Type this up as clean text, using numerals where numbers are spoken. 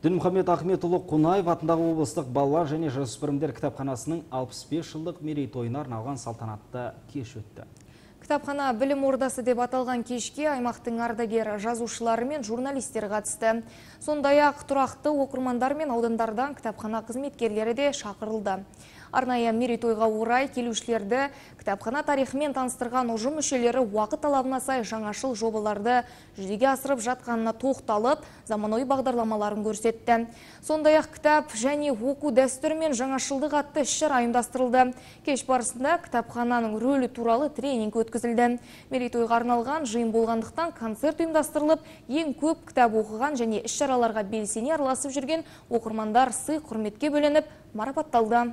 Дінмұхамед Ахметұлы Қонаев атындағы облыстық балалар және жасөспірімдер кітапханасының 65 жылдық мерейтойына арналған салтанатты кеш өтті. Кітапхана білім ордасы деп аталған кешке аймақтың ардагер жазушылары мен журналистер қатысты. Сондай-ақ тұрақты оқырмандар мен аудандардан кітапхана қызметкерлері де шақырылды. Арнайы мерейтойға орай келушілерді кітапхана тарихымен таныстырған ұжым мүшелері уақыт талабына сай жаңашыл жобаларды жүзеге асырып жатқанына тоқталып, заманауи бағдарламаларын көрсетті. Сондай-ақ кітап және оқу дәстүрі мен жаңашылдық атты іс-шара ұйымдастырылды. Кеш барысында кітапхананың рөлі туралы тренинг өткізілді. Мерейтойға арналған жиын болғандықтан концерт ұйымдастырылып, ең көп кітап оқыған және іс-шараларға белсене араласып жүрген оқырмандар сый құрметке бөленіп марапатталды.